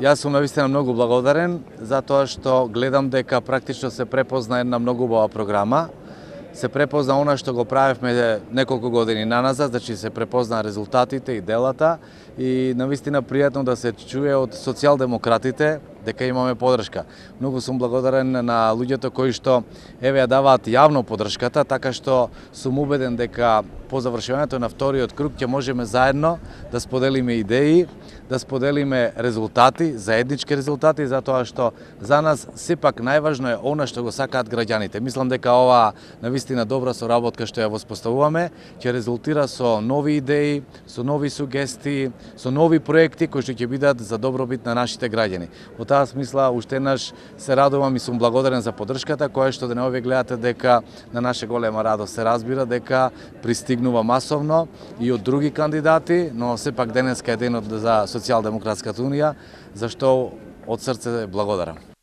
Јас сум навистина многу благодарен затоа што гледам дека практично се препозна една многу убава програма. Се препозна она што го правевме неколку години наназад, значи се препозна резултатите и делата и навистина пријатно да се чуе од социјалдемократите дека имаме поддршка. Многу сум благодарен на луѓето кои што ја даваат јавно поддршката, така што сум убеден дека по завршувањето на вториот круг ќе можеме заедно да споделиме идеи, да споделиме резултати, заеднички резултати, затоа што за нас сепак најважно е она што го сакаат граѓаните. Мислам дека ова навистина добра соработка што ја воспоставуваме ќе резултира со нови идеи, со нови сугестии, со нови проекти кои што ќе бидат за добробит на нашите граѓани. Во таа смисла уште еднаш се радувам и сум благодарен за поддршката која што денеови гледате дека на наша голема радост се разбира дека пристигнува масовно и од други кандидати, но сепак денеска е денот за Социјалдемократската унија, за што од срце благодарам.